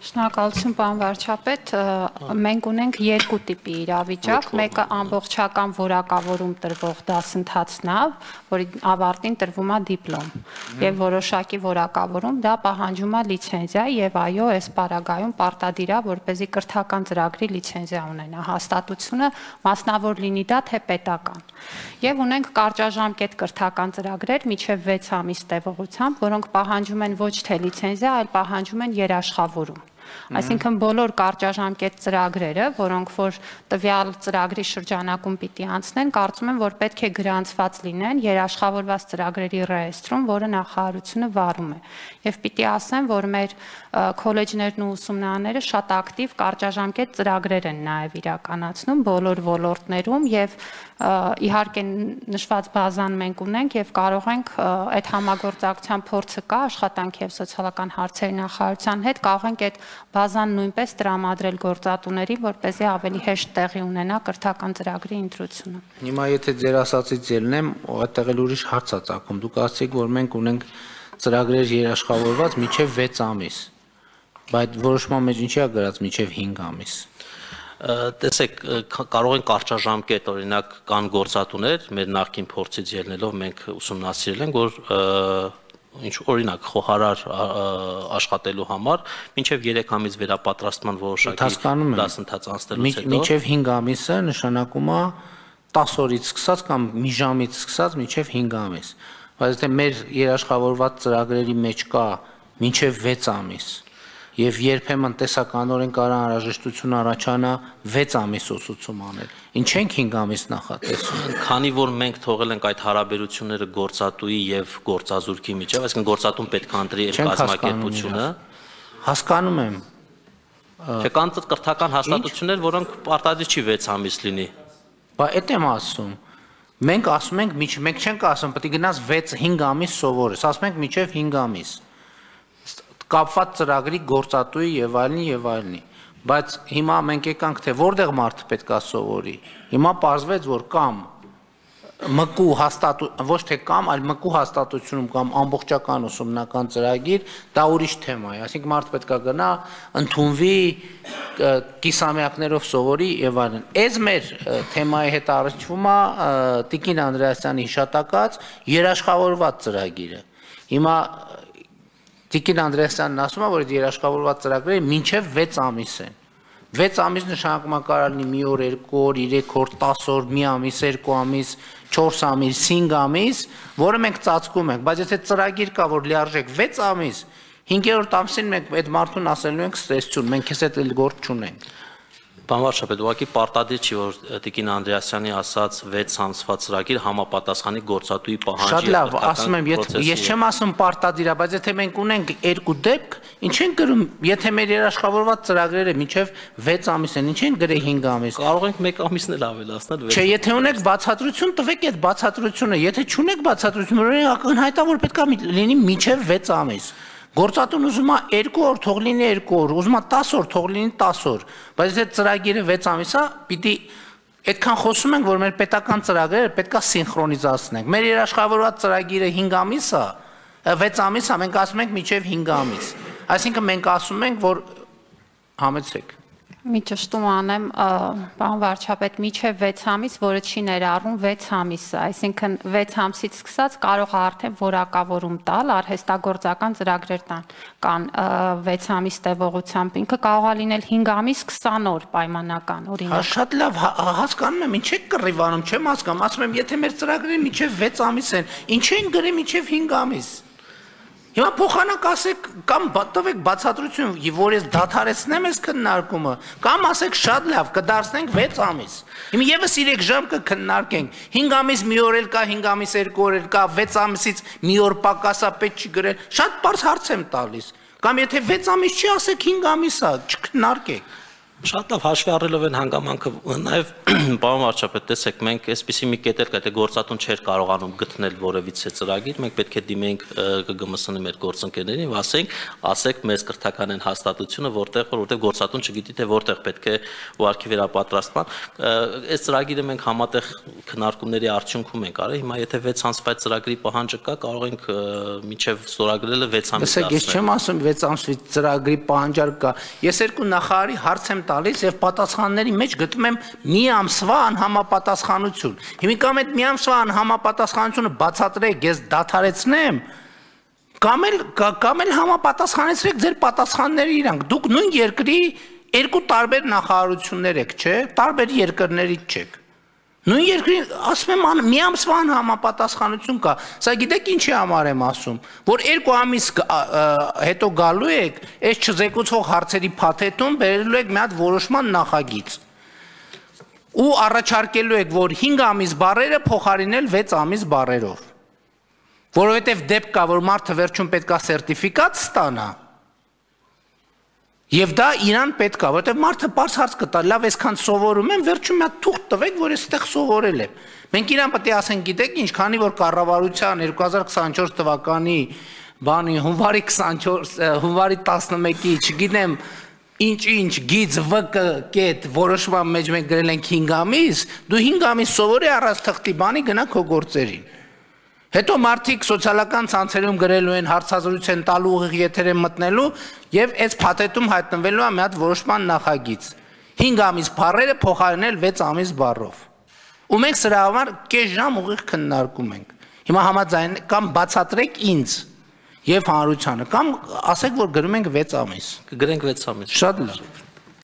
Շնորհակալություն, պարոն վարչապետ, մենք ունենք երկու տիպի իրավիճակ, մեկը ամբողջական որակավորում տրվող դասընթացն է, որի ավարտին տրվում է դիպլոմ, եւ որոշակի որակավորում դա պահանջում է լիցենզիա եւ այո, այս պարագայում պարտադիր է, որպեսզի կրթական ծրագրի լիցենզիա ունենա, հաստատությունը մասնավոր լինի դա թե պետական։ Եվ ունենք կարճաժամկետ կրթական ծրագրեր միջև 6 ամիս տևողությամբ, որոնք պահանջում են ոչ թե լիցենզիա, այլ պահանջում են երաշխավորում։ Այսինքն բոլոր կարճաժամկետ ծրագրերը, որոնք որ տվյալ ծրագրի շրջանակում պիտի անցնեն, կարծում եմ, որ պետք է գրանցված լինեն երաշխավորված ծրագրերի ռեեստրում, որը նախարարությունը վարում է։ Եվ պիտի ասեմ, որ մեր քոլեջներն ու ուսումնարանները շատ ակտիվ կարճաժամկետ ծրագրեր են նաև իրականացնում բոլոր ոլորտներում եւ իհարկե նշված բազան մենք ունենք եւ կարող ենք այդ համագործակցության փորձը կա աշխատանքի եւ սոցիալական հարցերի նախարարության հետ կարող ենք այդ բազան նույնպես տրամադրել գործատուներին, որպեսզի ավելի հեշտ տեղի ունենա կրթական ծրագրի ընտրությունը։ Հիմա եթե ձեր ասածից ելնեմ, այդտեղ էլ ուրիշ հարց է ծագում։ Դուք ասացիք, որ մենք ունենք ծրագրեր երաշխավորված մինչև 6 ամիս, բայց որոշման մեջ ինչի է գրած մինչև 5 ամիս։ Տեսեք, կարող են կարճաժամկետ, օրինակ կան գործատուներ, մեր նախկին փորձից ելնելով մենք ուսումնասիրել ենք, որ ինչ օրինակ խոհարար աշխատելու համար մինչև 3 ամիս վերապատրաստման որոշակի դասընթաց անցնելուց հետո մինչև 5 ամիսը նշանակում է 10 օրից սկսած կամ մի ժամից սկսած մինչև 5 ամիս, բայց եթե մեր երաշխավորված ծրագրերի մեջ կա մինչև 6 ամիս եւ երբեմն տեսականորեն կարող անհրաժեշտություն առաջանա 6 ամիս ուսուցում անել։ Ինչ ենք 5 ամիս նախատեսում։ Քանի որ մենք թողել ենք այդ հարաբերությունները գործատուի եւ գործազուրկի միջեւ, այսինքն գործատուն պետք է ընտրի իր կազմակերպությունը։ Հասկանում եմ։ Չէ, կան կրթական հաստատություններ, որոնք պարտադիր չի 6 ամիս լինի։ Բա այդ եմ ասում։ Մենք ասում ենք, մենք չենք ասում, պետք է գնաս 6-5 ամիս սովորես, ասում ենք մինչև 5 ամիս։ Կապված ծրագրի գործատուի եւ այլնի, բայց հիմա մենք եկանք թե որտեղ մարդը պետք է սովորի։ Հիմա պարզվեց, որ կամ ՄԿ-ու ոչ թե կամ, այլ ՄԿ-ու հաստատությունում կամ ամբողջական ուսումնական ծրագիր, դա ուրիշ թեմա է, այսինքն մարդը պետք է գնա, ընդունվի, կիսամյակներով սովորի եւ այլն։ Այս մեր թեմայի հետ առնչվում է Տիկին Անդրեասյանի հիշատակած երաշխավորված ծրագիրը։ Հիմա Տիկին Անդրեասյանն ասում է, որ այդ երաշխավորված ծրագրերը մինչև 6 ամիս են։ 6 ամիս նշանակում է կարող լինի մի օր, 2 օր, 3 օր, 10 օր, մի ամիս, 2 ամիս, 4 ամիս, 5 ամիս, որը մենք ծածկում ենք, բայց եթե ծրագիր կա, որ լիարժեք 6 ամիս, 5-րդ ամսին մենք այդ մարդուն ասելու ենք ստեսություն, մենք քեզ հետ գործ չունենք։ Պարոն վարչապետ, ուղղակի պարտադիր չի, որ Տիկին Անդրեասյանի ասած 6 ամսվա ծրագիր համապատասխանի գործատուի պահանջի։ Շատ լավ, ասում եմ, ես չեմ ասում պարտադիր է, բայց եթե մենք ունենք երկու դեպք, ինչ են գրում, եթե մեր երաշխավորված ծրագրերը մինչև 6 ամիս են, ինչ են գրել 5 ամիս։ Կարող ենք 1 ամիսն էլ ավելացնել։ Չէ, եթե ունեք բացատրություն, տվեք այդ բացատրությունը, եթե չունեք բացատրություն, ակնհայտ է, որ պետք է լինի մինչև 6 ամիս։ Գործատուն ուզում է 2 օր, թող լինի 2 օր, ուզում է 10 օր, թող լինի 10 օր, բայց եթե ծրագիրը 6 ամիս է, պիտի այդքան խոսում ենք, որ մեր պետական ծրագրերը պետք է սինխրոնիզացնենք։ Մեր երաշխավորված ծրագիրը 5 ամիս է, 6 ամիս է, մենք ասում ենք մինչև 5 ամիս։ Այսինքն մենք ասում ենք, որ համեցեք։ Մի ճշտում անեմ, պարոն վարչապետ, մինչև 6 ամիս, որը չի ներառում 6 ամիսը, այսինքն 6 ամսից սկսած կարող է արդեն որակավորում տալ, արհեստագործական ծրագրեր կան 6 ամիս տևողությամբ, ինքը կարող է լինել 5 ամիս 20 օր պայմանական, օրինակ։ Շատ լավ, հասկանում եմ, ինչ եք կռիվանում, չեմ հասկանում, ասում եմ, եթե մեր ծրագրերը մինչև 6 ամիս են, ինչ են գրել մինչև 5 ամիս։ Հիմա փոխանակ ասեք կամ տվեք բացատրություն, որ ես դադարեցնեմ այս քննարկումը, կամ ասեք շատ լավ, կդարձնենք 6 ամիս։ Հիմա եւս 3 ժամ կքննարկենք։ 5 ամիս մի օր էլ կա, 5 ամիս 2 օր էլ կա, 6 ամիսից մի օր պակասա պետք չի գրել։ Շատ բարձ հարց եմ տալիս։ Կամ եթե 6 ամիս չի, ասեք 5 ամիս է, չքննարկեք։ Շատ լավ հաշվի առնելով այն հանգամանքը նաև պարոն վարչապետ տեսեք մենք այսպեսի մի կետ էլ կա գործատուն չէր կարողանում գտնել որևիցե ծրագիր մենք պետք է դիմենք ԿԳՄՍ-ի մեր գործընկերներին ասենք մեզ կրթական են հաստատությունը որտեղ գործատուն չգիտի թե որտեղ պետք է ուղարկի վերապատրաստման այս ծրագիրը մենք համատեղ քննարկումների արդյունքում ենք արել հիմա եթե 6 ամսվա ծրագրի պահանջը կա կարող ենք մինչև ստորագրելը 6 ամիս դասել ես չեմ ասում 6 ամսվա ծրագրի պահանջարկ կա ես երկու նախարարի հարց եմ տալիս եւ պատասխանների մեջ գտնում եմ մի ամսվա անհամապատասխանություն։ Հիմիկամ այդ մի ամսվա անհամապատասխանությունը բացատրեք, ես դադարեցնեմ, կամ էլ համապատասխանեցրեք ձեր պատասխանները իրանք։ Դուք նույն երկրի երկու տարբեր նախարարություններ եք, չէ՞։ Տարբեր երկրներից չեք։ Նույն երկրի ասում եմ մի ամսվա անհամապատասխանություն կա։ Սա գիտեք ինչի համար եմ ասում, որ 2 ամիս հետո գալու եք, այս չզեկուցող հարցերի փաթեթում բերելու եք մի հատ որոշման նախագիծ։ Ու առաջարկելու եք, որ 5 ամիս բառերը փոխարինել 6 ամիս բառերով։ Որովհետև դեպք կա, որ մարդը վերջում պետք է սերտիֆիկատ ստանա։ Եվ դա իրան պետք է, որովհետև մարդը պարզ հարց կտա, լավ այսքան սովորում եմ, վերջում մի հատ թուղթ տվեք, որ ես այդտեղ սովորել եմ։ Մենք իրան պետք է ասենք, գիտեք ինչ, քանի որ կառավարության 2024 թվականի բանի հունվարի 11-ի, չգիտեմ, ինչ գիծ ՎԿ կետ որոշման մեջ մենք գրել ենք 5 ամիս, դու 5 ամիս սովորի առանց թղթի բանի գնա քո գործերին։ Հետո մարդիկ սոցիալական ցանցերում գրելու են հարցազրույց են տալու ուղիղ եթեր են մտնելու եւ այս փաթեթում հայտնվելու է մի հատ որոշման նախագիծ 5 ամիս բառերը փոխարինել 6 ամիս բառով ու մենք սրա համար կես ժամ ուղիղ քննարկում ենք հիմա համաձայն կամ բացատրեք ինձ եւ հանրությանը կամ ասեք որ գրում ենք 6 ամիս կգրենք 6 ամիս շատ լավ